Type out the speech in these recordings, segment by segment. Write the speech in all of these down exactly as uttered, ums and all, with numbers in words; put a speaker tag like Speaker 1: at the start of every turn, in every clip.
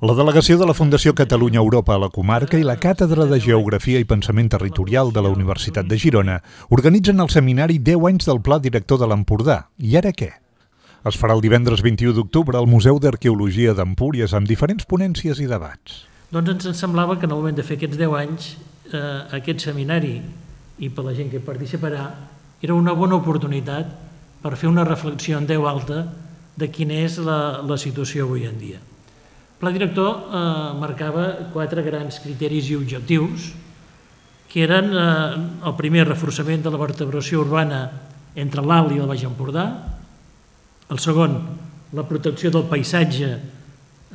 Speaker 1: La delegació de la Fundació Catalunya-Europa a la comarca i la Càtedra de Geografia i Pensament Territorial de la Universitat de Girona organitzen el seminari deu anys del Pla Director de l'Empordà. I ara què? Es farà el divendres vint-i-u d'octubre al Museu d'Arqueologia d'Empúries amb diferents ponències i debats.
Speaker 2: Doncs ens semblava que en el moment de fer aquests deu anys, eh, aquest seminari, i per la gent que participarà, era una bona oportunitat per fer una reflexió en veu alta de quina és la, la situació avui en dia. El pla director eh, marcava quatre grans criteris i objectius, que eren eh, el primer, reforçament de la vertebració urbana entre l'Alt i el Baix Empordà, el segon, la protecció del paisatge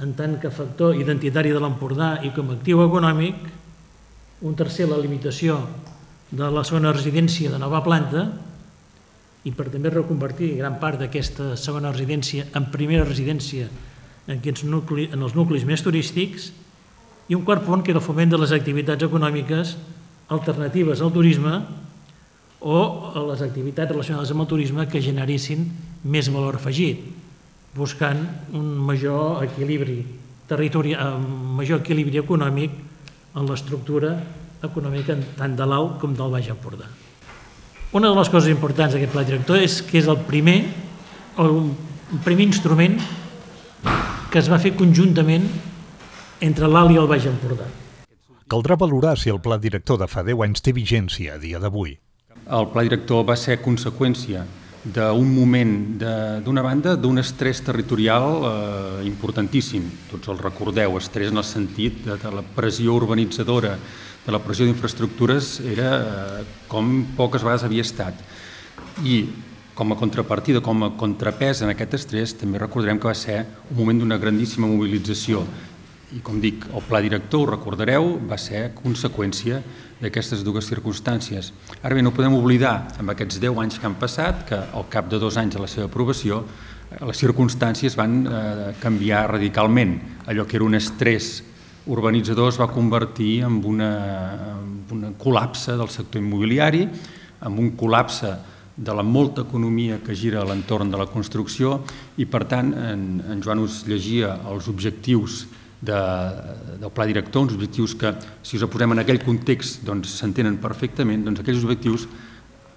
Speaker 2: en tant que factor identitari de l'Empordà i com a actiu econòmic, un tercer, la limitació de la segona residència de nova planta i per també reconvertir gran part d'aquesta segona residència en primera residència en, nucli, en els nuclis més turístics, i un quart punt que era el foment de les activitats econòmiques alternatives al turisme o a les activitats relacionades amb el turisme que generessin més valor afegit, buscant un major equilibri territorial, un major equilibri econòmic en l'estructura econòmica tant de l'Alt com del Baix Empordà. Una de les coses importants d'aquest pla director és que és el primer, el primer instrument que es va fer conjuntament entre l'Alt i el Baix Empordà.
Speaker 1: Caldrà valorar si el pla director de fa deu anys té vigència a dia d'avui.
Speaker 3: El pla director va ser conseqüència d'un moment, d'una banda, d'un estrès territorial eh, importantíssim. Tots el recordeu, estrès en el sentit de, de la pressió urbanitzadora, de la pressió d'infraestructures, era eh, com poques vegades havia estat. I com a contrapartida, com a contrapès en aquest estrès, també recordarem que va ser un moment d'una grandíssima mobilització. I com dic, el pla director, ho recordareu, va ser conseqüència d'aquestes dues circumstàncies. Ara bé, no podem oblidar, amb aquests deu anys que han passat, que al cap de dos anys de la seva aprovació, les circumstàncies van eh, canviar radicalment. Allò que era un estrès urbanitzador es va convertir en una, en un col·lapse del sector immobiliari, en un col·lapse de la molta economia que gira a l'entorn de la construcció i, per tant, en, en Joan us llegia els objectius de, del pla director, uns objectius que, si us posem en aquell context, doncs s'entenen perfectament, doncs aquells objectius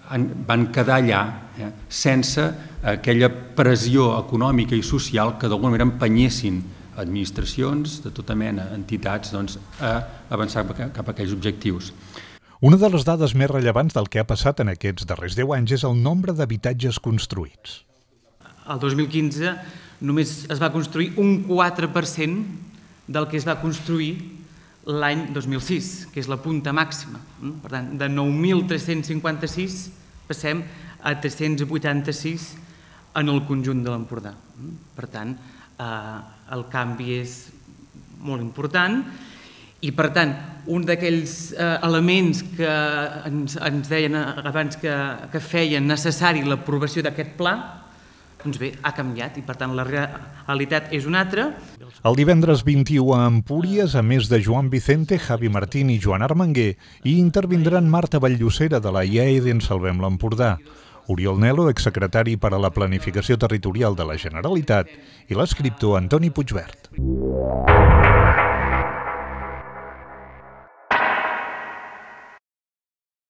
Speaker 3: han, van quedar allà eh, sense aquella pressió econòmica i social que d'alguna manera empenyessin administracions de tota mena, entitats, doncs, a avançar cap a aquells objectius.
Speaker 1: Una de les dades més rellevants del que ha passat en aquests darrers deu anys és el nombre d'habitatges construïts.
Speaker 4: El dos mil quinze només es va construir un quatre per cent del que es va construir l'any dos mil sis, que és la punta màxima. Per tant, de nou mil tres-cents cinquanta-sis passem a tres-cents vuitanta-sis en el conjunt de l'Empordà. Per tant, el canvi és molt important. I, per tant, un d'aquells elements que ens, ens deien abans que, que feien necessari l'aprovació d'aquest pla, doncs bé, ha canviat i, per tant, la realitat és una altra.
Speaker 1: El divendres vint-i-u a Empúries, a més de Joan Vicente, Javi Martín i Joan Armenguer, hi intervindran Marta Valllocera de la I A E D en Salvem l'Empordà, Oriol Nelo, exsecretari per a la Planificació Territorial de la Generalitat, i l'escriptor Antoni Puigvert.